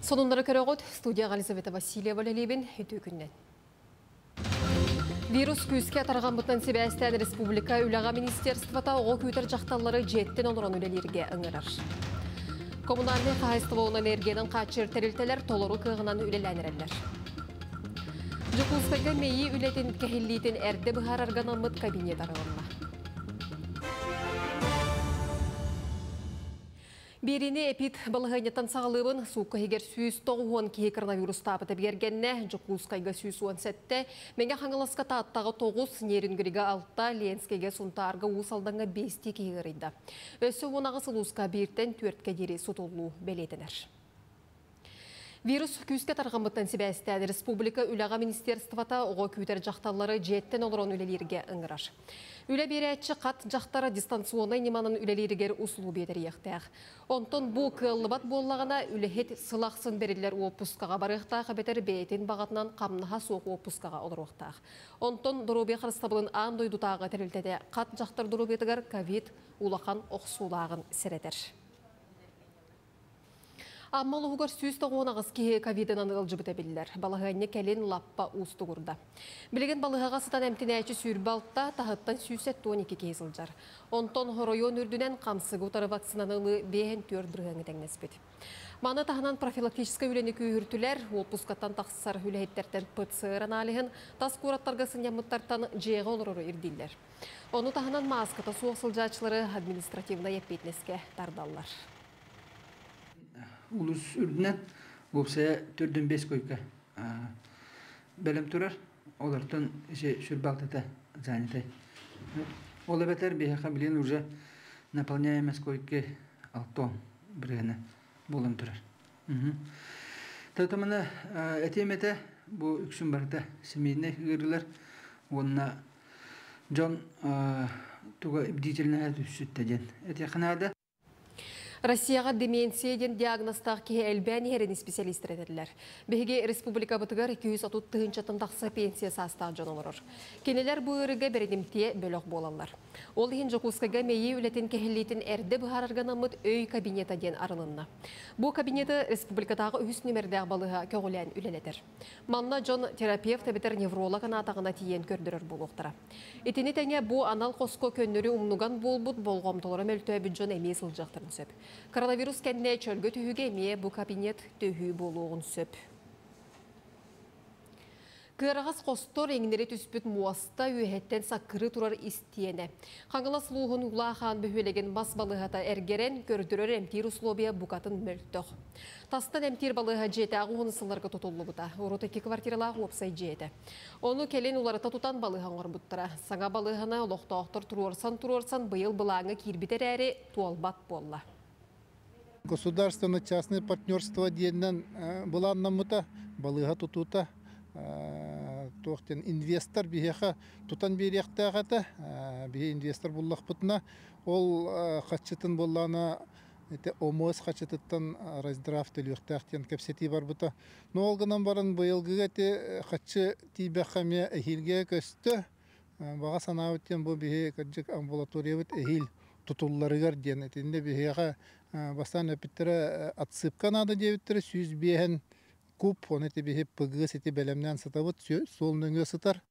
Сонуннары көрөҕүт, студияҕа Елизавета Васильева үлэлиибин, үтүө күннэн. Вирус күүскэ тарҕаммытынан сибээстээн республика үлэҕэ министерствота оҕо күүтэр дьахталлары дьиэттэн олорон үлэлииргэ ыҥырар. Коммунальнай хаһаайыстыба уонна энергиянан хааччыйар тэрилтэлэр толору кыаҕынан үлэлээн эрэллэр. Дьокуускайга мэйии үлэтин кэһиллиитин эрдэ быһаарарга анаммыт кабинет арылынна. Биэриини эпид балаһыанньаттан саҕалыыбын. Суукка иһигэр 190 киһи коронавирустаабыта бигэргэннэ. Дьокуускайга 117, Мэҥэ Хаҥаласка Тааттаҕа 9, Нерюнгрига 6, Ленскэйгэ, Сунтаарга, Уус Алдаҥҥа 5 киһи ыарыйда. Өссө 18 улууска бииртэн түөрткэ диэри сутуллуу бэлиэтэнэр. Вирус күүскэ тарҕаммыттан сибээстээн республика үлэҕэ министерствота оҕо күүтэр дьахталлары дьиэттэн олорон үлэлииргэ ыҥырар. Үлэ биэрээччи хат дьахтара дистанционнай ньыманан үлэлииригэр усулуобуйа тэрийиэхтээх. Онтон бу кыаллыбат буоллаҕына, үлэһит сыл ахсын бэриллэр уоппускаҕа барыахтаах эбэтэр бэйэтин баҕатынан хамнаһа суох уоппускаҕа олоруохтаах. Онтон доруобуйа харыстабылын аан дойдутааҕы тэрилтэтэ хат дьахтар доруобуйатыгар ковид улахан охсуулааҕын сэрэтэр. Амма улууһугар 198 киһи ковидынан ыалдьыбыта биллэр. Балаһыанньа кэлин лаппа уустугурда. Билигин балыыһаҕа сытан эмтэнээччи 26, таһыттан 172 киһи сылдьар. Онтон оройуон үрдүнэн хамсыгы утары вакцинаны ылыы 54 бырыһыаҥҥа тэҥнэспит. Маны таһынан профилактическай үлэни күүһүртүлэр, уоппускаттан тахсар үлэһиттэртэн ПЦР аналиһын, тас куораттарга сынньаммыттартан дьиэҕэ олорору ирдииллэр. Ону таһынан мааската суох сылдьааччылары административнай эппиэтинэскэ тардаллар. Улус үрдүнэн уопсайа төрдүн бес койка бэлэм турар. Олортон сүрбалтата занятай. Ол эбэтэр биһиэхэ билин уже наполняемость койки алтон бырыһына буолан турар. Татамана этиэм этэ бу үксүн барыта семейнэй ыарыылар уонна дьон туга бдительнэһэ түссүттэ диэн этиэххэ наада. Россияҕа деменция диэн диагнозтаах киһи элбээн иһэрин исписэлиистэр этэллэр. Биһиги республикабытыгар 230 тыһыынчаттан тахса пенсия саастаах дьон олорор. Кинилэр бу ыарыыга бэридимтиэ бөлөх буолаллар. Ол иһин Дьокуускайга мэйии үлэтин кэһиллиитин эрдэ быһаарарга анаммыт өй кабинета диэн арылынна. Бу кабинеты республикатааҕы үһүс нүмердээх балыыһа көҕүлээн үлэлэтэр. Манна дьон терапевт эбэтэр невролог анаатаҕына тиийэн көрдөрөр буолуохтара. Итини тэҥэ бу анал хоско көннөрү умнуган буолбут болҕомтолоро мөлтөөбүт дьон эмиэ сылдьыахтарын сөп. Коронавирус кэннэ чөлгө түһүүгэ эмиэ бу кабинет төһүү буолуоҕун сөп. Кыараҕас хостор иҥнэри түспүт муоста үөһэттэн саккырыы турар истиэнэ. Хаҥалас улууһун Улахан бөһүөлэгин мас балыыһата эргэрэн, көрдөрөр эмтиир условия букатын мөлтөх. Тастан эмтиир балыыһа дьиэтээҕи уһун сылларга тутуллубута. Урут икки квартиралаах уопсай дьиэ этэ. Ону кэлин уларыта тутан балыыһа оҥорбуттара. Саҥа балыыһаны олохтоохтор туруорсан-туруорсан быйыл былааҥҥа киирбит эрээри туолбат буолла. Государственно-частное партнерство диэнинэн былааннаммыта, балыыһа тутуута туох диэн инвестор биһиэхэ тутан биэриэхтээх этэ. Биһи инвестор буллахпытына, ол хаччытын буоллаҕына ити ОМС хаччытыттан раздрав төлүөхтээх диэн кэпсэтии барбыта. Но ол гынан баран быйылгыга ити хаччы тиийбэххэ эмиэ эһиилгэ көстө. Баҕа санаабыт диэн бу биһи кырдьык амбулаториябыт эһиил тутулларыгар диэн итиннэ биһиэхэ бастаан эппиттэрэ отсыпка наада диэбиттэрэ 105 куб ону ити биһи ПГС ити бэлэмнээн сытабыт суол нөҥүө сытар.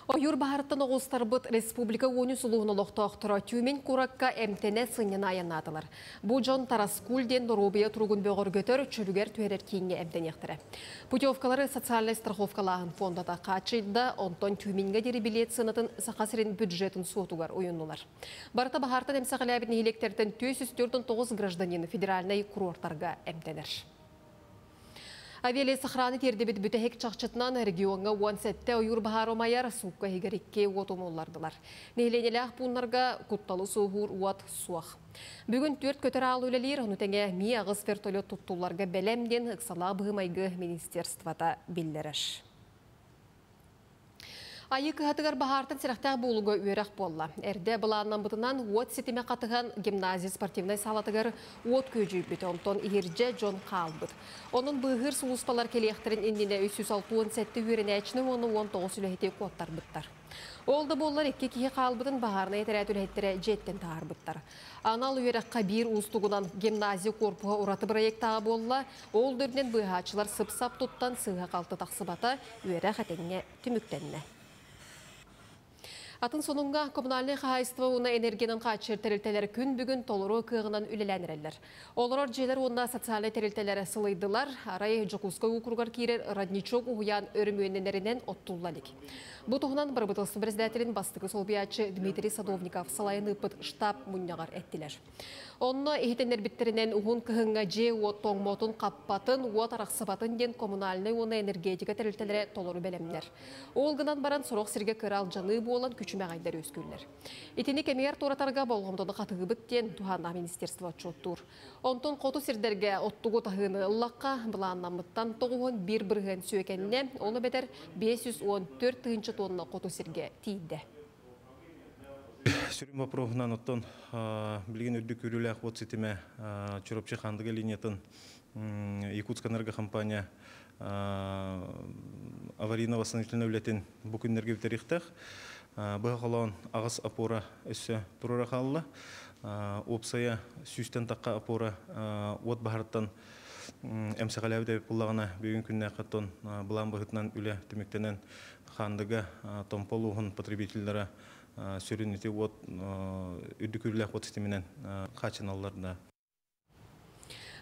Ойуур баһарыттан оҕустарбыт республика уонус улууһун олохтоохторо Тюмень куоракка эмтэнэ сынньана айаннаатылар. Бу дьон Тараскуль диэн доруобуйа туругун бөҕөргөтөр, чөлүгэр түһэрэр кииҥҥэ эмтэниэхтэрэ. Путевкалары социальнай страховкалааһын фондата хааччыйда, онтон Тюменьга диэри билиэт сыанатын Саха сирин бюджетын суотугар уйуннулар. Барыта баһаартан эмсэҕэлээбит нэһилиэктэртэн 449 гражданин федеральнай курортарга эмтэнэр. Авиалесохраны тиэрдибит бүтэһик чахчытынан региоҥҥа 17 ойуур баһаар умайар, суукка иһигэр икки уот умуллардылар. Нэһилиэнньэлээх пууннарга кутталы суоһуур уот суох. Бүгүн түөрт көтөр аал үлэлиир, ону тэҥэ Ми аҕыс вертолет туттулларга бэлэм диэн ыксалаах быһыы-майгы министерствота биллэрэр. Айыы кыһатыгар баһаартан сэрэхтээх буолууга үөрэх буолла. Эрдэ былааннаммытынан уот ситимэ хатыһан гимназия спортивнай саалатыгар уот күөдьүйбүт, онтон иһирдьэ дьон хаалбыт. Онон быыһыыр сулууспалар кэлиэхтэрин иннинэ 367 үөрэнээччини уонна 19 үлэһити куоттарбыттар. Ол да буоллар икки киһи хаалбытын баһаарынай этэрээт үлэһиттэрэ дьиэттэн таһаарбыттар. Анал үөрэххэ биир уустугунан гимназия корпуһа ураты бырайыактааҕа буолла. Ол да үрдүнэн быыһааччылар сып-сап туттан сыыһа-халты тахсыбата, үөрэх этэҥҥэ түмүктэннэ. Атын сонуҥҥа коммунальнай хаһаайыстыба уонна энергиянан хааччыйар тэрилтэлэр күн бүгүн толору кыаҕынан үлэлээн эрэллэр. Олорор дьиэлэр уонна социальнай тэрилтэлэр сылыйдылар. Арай Дьокуускай уокуругар киирэр Родничок уһуйаан өрөмүөннэнэринэн оттулла илик. Бу туһунан бырабыыталыстыба председателин бастакы солбуйааччы Дмитрий Садовников салайан ыыппыт штаб мунньаҕар эттилэр. Онно иһитиннэрбиттэринэн уһун кыһыҥҥа дьиэ-уот тоҥмотун, хаппатын, уот арахсыбатын диэн коммунальнай уонна энергетика тэрилтэлэрэ толору бэлэмнэр. Ол гынан баран сорох сиргэ кыра алдьаныы буолан күчүмэҕэйдэр үөскүүллэр. Итини кэмигэр туоратарга болҕомтону хатыыбыт диэн туһааннаах министерство отчуоттуур. Онтон хоту сирдэргэ оттугу таһыыны ыллахха, былааннаммыттан 91% сүөкэннэ, ол эбэтэр 514 тыһыынча тонна хоту сиргэ тиийдэ. Сүрүн боппуруоһунан оттон билигин үрдүк күүрүүлээх уот ситимэ Чурапчы Хаандыга линиятын Якутскэнерго компания аварийно-восстановительнай үлэтин бу күннэргэ бүтэриэхтээх. Быһа холоон аҕыс опора өссө туруора хаалла. Уопсайа сүүстэн тахха опора уот баһарыттан эмсэҕэлээбит эбит буоллаҕына, бүгүн күннээххэ оттон былаан быһыытынан үлэ түмүктэнэн Хаандыга Томпо улууһун потребителлара сүрүн ити уот үрдүк күүрүүлээх уот ситиминэн хааччыналлар да.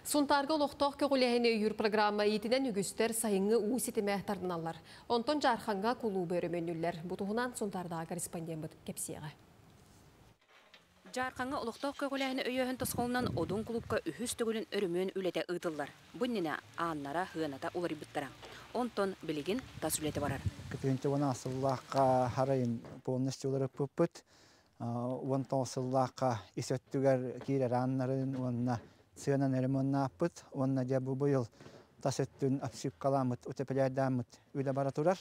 Сунтаарга олохтоох көҕүлээһини өйүүр программа иитинэн үгүстэр сайыҥҥы уу ситимэ тардыналлар. Онтон Дьаархаҥҥа кулуубу өрөмүөннүүллэр. Бу туһунан Сунтаардааҕы корреспондеммыт кэпсиэҕэ. Дьаархаҥҥа олохтоох көҕүлээһини өйөөһүн тосхолунан Одун кулуупка үһүс төгүлүн өрөмүөн үлэтэ ыытыллар. Бу иннинэ ааннара, сыаната уларыйбыттара. Онтон билигин тас үлэтэ барар. Кытыынча уон сыллаахха харайын полностью уларыппыппыт. 19 сыллаахха ис өттүгэр киирэр ааннарын уонна сыанан ремоннааппыт. Уонна дьэ бу быйыл тас өттүн обшивкаламмыт, утеплярдааммыт үлэ бара турар.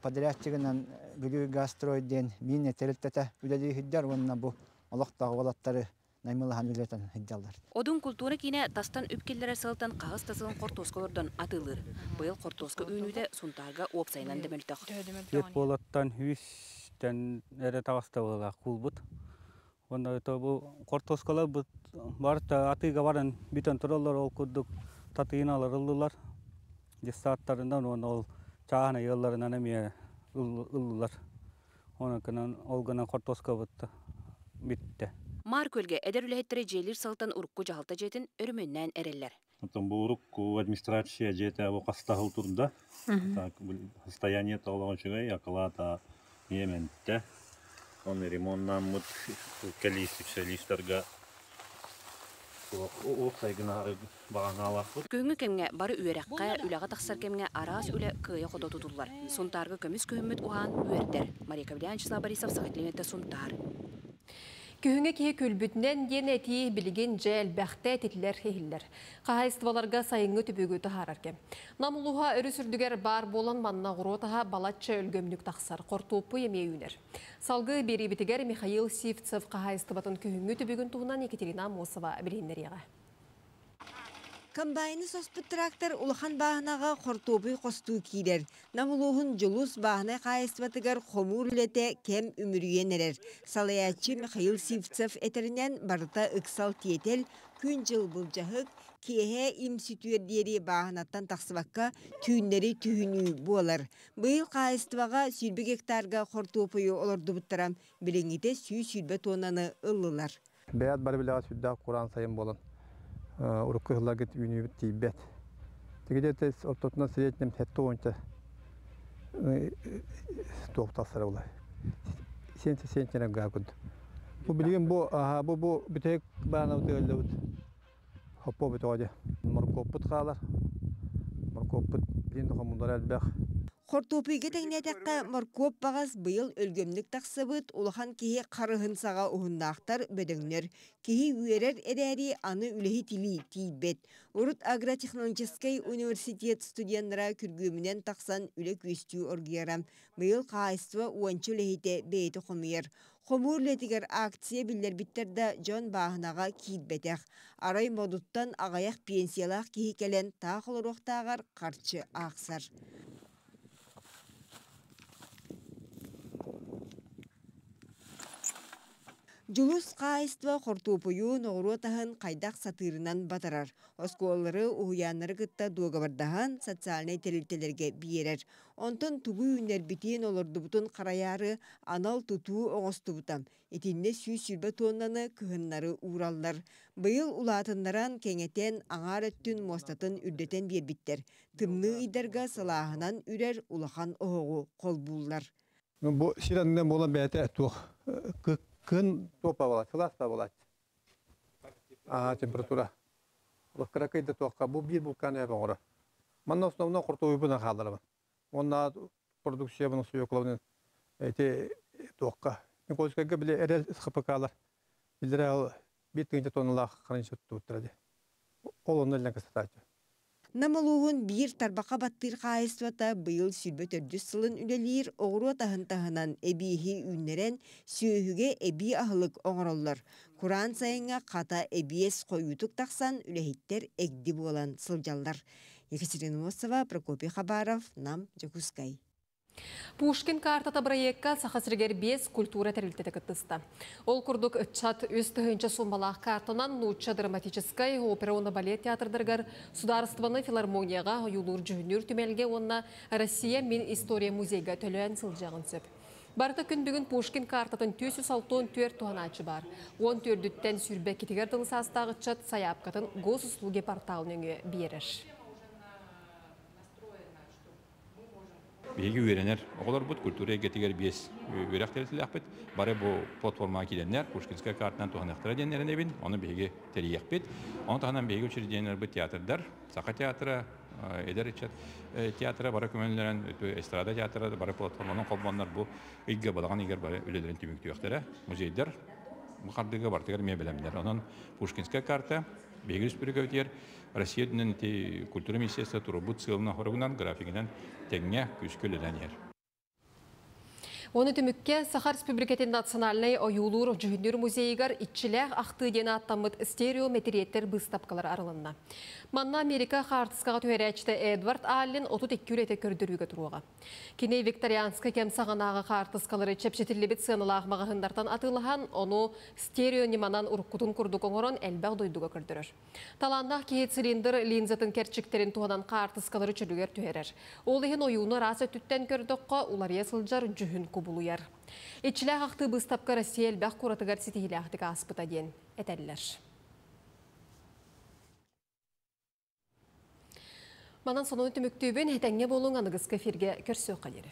Подрядчигынан Бүлүү Газстрой диэн миинэ тэрилтэтэ үлэлии сылдьар уонна бу олохтоох уолаттары наймылаһан үлэтэн сылдьаллар. Одун култуура киинэ тастан үп киллэрэр сылтан хаһыс да сылын хортуоска олордон атыылыыр. Быйыл хортуоска үүнүүтэ Сунтаарга уопсайынан да мөлтөх. Түөрт буолаттан үстэн эрэ таҕыста быһыылаах куулбут. Уонна бу хортуоскалар барыта атыыга баран бүтэн тураллар, ол курдук татыйыналар ыллылар. Детсадтарынан уонна ол чааһынай ыалларынан эмиэ ыллылар. Онон ол гынан хортуоскабыт бүттэ. Маар Күөлгэ эдэр үлэһиттэрэ дьиэлиир сылтан урукку дьаһалта дьиэтин өрөмүөннээн эрэллэр. Оттон бу урукку администрация дьиэтэ бу хастаһыл турда. Так, состояние толоҕо үчүгэй, акылаата иэмэнтэ. Оны ремонтнааммыт кэлии специалисттарга уопсайгына баҕанаалаахпыт. Күһүҥҥү кэмҥэ бары үөрэххэ, үлэҕэ тахсар кэмҥэ араас үлэ кыайа-хото тутуллар. Сунтаарга көмүс күһүммүт уһаан үөрдэр. Мария Кавлян, Вячеслав Борисов, Саха телевидениетэ, Сунтаар. Күһүҥҥэ киһи күлбүтүнэн диэн этии билигин дьэ элбэхтэ этиллэр иһиллэр. Хаһаайыстыбаларга сайыҥҥы түбүгү таһаарар кэм. Нам улууһа өрүс үрдүгэр баар буолан манна оҕуруот аһа балачча өлгөмнүк тахсар, хортуоппуй эмиэ үүнэр. Салгыы биэриибитигэр Михаил Сивцев хаһаайыстыбатын күһүҥҥү түбүгүн туһунан Екатерина Аммосова билиһиннэриэҕэ. Комбайны соспут трактор улахан бааһынаҕа хортуопуй хостуу киирэр. Нам улууһун Дьулус бааһынай хаһаайыстыбатыгар хомуур үлэтэ кэм үмүрүйэн эрэр. Салайааччы Михаил Сивцев этэринэн, барыта ыксал-тиэтэл, күн-дьыл былдьаһык, киэһэ им сүтүөр диэри бааһынаттан тахсыбакка түүннэри түһүнүү буолар. Быйыл хаһаайыстыбаҕа 120 гектарга хортуопуйу олордубуттара, билиҥҥитэ 120 тоннаны ыллылар. Бэйэт бары билэҕит сүрдээх кураан сайын буолан урукку сылларга үүнүүбүт тиийбэт. Тигидете ортотунан среднем 70 туох тахсара буолар. 70 центнер гаа курдук. Бу билигин бу бу бу бүтэһик баанабыт ыаллыбыт. Хоппо бүтөҕө. Моркуоппут хаалар. Моркуоппут билин хомуллар элбэх. Хортуопуйга тэҥнээтэххэ, моркуоп баҕас быйыл өлгөмнүк тахсыбыт, улахан киһи харыһын саҕа уһуннаахтар, бөдөҥнөр. Киһи үөрэр эрээри, аны үлэһит илии тиийбэт. Урут агротехнологическай университет студеннара күргүөмүнэн тахсан үлэ күөстүү оргуйара. Быйыл хаһаайыстыба уонча үлэһитэ бэйэтэ хомуйар. Хомуур үлэтигэр акция биллэрбиттэр да, дьон бааһынаҕа киирбэтэх. Арай Модуттан аҕыйах пенсиялаах киһи кэлэн таах олоруохтааҕар харчы аахсар. Дьулус хаһаайыстыба хортуоппуйу, ноҕуруот аһын хайдах сатыырынан батарар. Оскуолалары, уһуйааннары кытта дуогабардаһан социальнай тэрилтэлэргэ биэрэр. Онтон тугу үүннэрбитин, олордубутун харайаары анал тутуу оҥостубута. Итиннэ 120 туоннаны кыһыннары уураллар. Быйыл улаатыннаран, кэҥэтэн, аҥаар өттүн муостатын үрдэтэн биэрбиттэр. Тымныы ыйдарга сылааһынан үрэр улахан оһоҕу холбууллар. Бу сир аннынан буолан бэйэтэ туох кын туопа буолааччы, сылаас да буолааччы. Аа, температура. Кыракый да туохха бу биир булкаан эбэ оҥоро. Манна основном хортуойбунан хаалларабын. Уонна продукциябын свеклабын эти туохха. Никольскайга били эрэл СХПКлар билдere ол биир тыһыынча тонналаах хранилище туттубуттара дии. Ол онно илэн кыстатааччы. Нам улууһун биир тарбахха баттыыр хаһаайыстыбата быйыл 24 сылын үлэлиир, оҕуруот аһын таһынан эбиэһи үүннэрэн, сүөһүгэ эбии аһылык оҥороллор. Кураан сайыҥҥа хата эбиэс хойуутук тахсан, үлэһиттэр эгди буолан сылдьаллар. Екатерина Мосова, Прокопий Хабаров, Нам, Дьокуускай. Пушкин картата бырайыакка Саха сиригэр биэс культура тэрилтэтэ кыттыста. Ол курдук ыччат 3000 суумалаах картанан нуучча драматическай опера уонна балет театрдарыгар, судаарыстыбаннай филармонияҕа, ойуулуур дьүһүннүүр түмэлгэ уонна Россия мин история музейга төлөөн сылдьыаҕын сөп. Барыта күн бүгүн Пушкин картатын 464 туһанааччы баар. 14-түттэн 22-тигэр дылы саастаах ыччат сайаапкатын госуслуги портал нөҥүө биэрэр. Биһиги үөрэнэр оҕолорбут культура эйгэтигэр биэс үөрэх тэрилтэлээхпит. Бары бу платформаҕа киирэннэр Пушкинская картанан туһаныахтара диэн эрэнэбин. Ону биһиги тэрийиэхпит. Ону таһынан биһиги учреждениеларбыт театрдар, Саха театра, эдэр ыччат театра бары көмөлөрөн, эстрада театра бары платформанан холбоннор бу ыйга балаҕан ыйыгар бары үлэлэрин түмүктүөхтэрэ. Музейдар бу хардыыга барытыгар эмиэ бэлэмнэр. Онон Пушкинская карта биһиги республикабытыгар Россия үрдүнэн ити культура министерство турбут сыалынан-хоругунан, графигынан тэҥҥэ күүскэ үлэлээн иһэр. Оны түмүккэ Саха Республикатын национальнай ойуулуур дьүһүннүүр музейыгар иччилээх ахтыы диэн ааттаммыт стереометриеттер быыстапкалар арылынна. Манна Америка хаартыскаҕа түһэрээччитэ Эдвард Аллен 32 үлэтэ көрдөрүүгэ туруоҕа. Кини викторианскай кэм саҕанааҕы хаартыскалары чэпчэтиллибит сыаналаах маҕаһыыннартан атыылаһан, ону стерео ньыманан уруккутун курдук оҥорон элбэх дойдуга көрдөрөр. Талааннаах киһи цилиндр линзатын кэрчиктэрин туһанан хаартыскалары чөлүгэр түһэрэр. Ол иһин ойууну араас өттүттэн көрдөххө, уларыйа сылдьар дьүһүн кубулуйар. Иччилээх ахтыы быыстапка Россия элбэх куоратыгар ситиһиилээхтик ааспыта диэн этэллэр. Манан сонуну түмүктүүбүн, этэҥҥэ буолуҥ, аныгыскы эфиргэ көрсүөххэ диэри.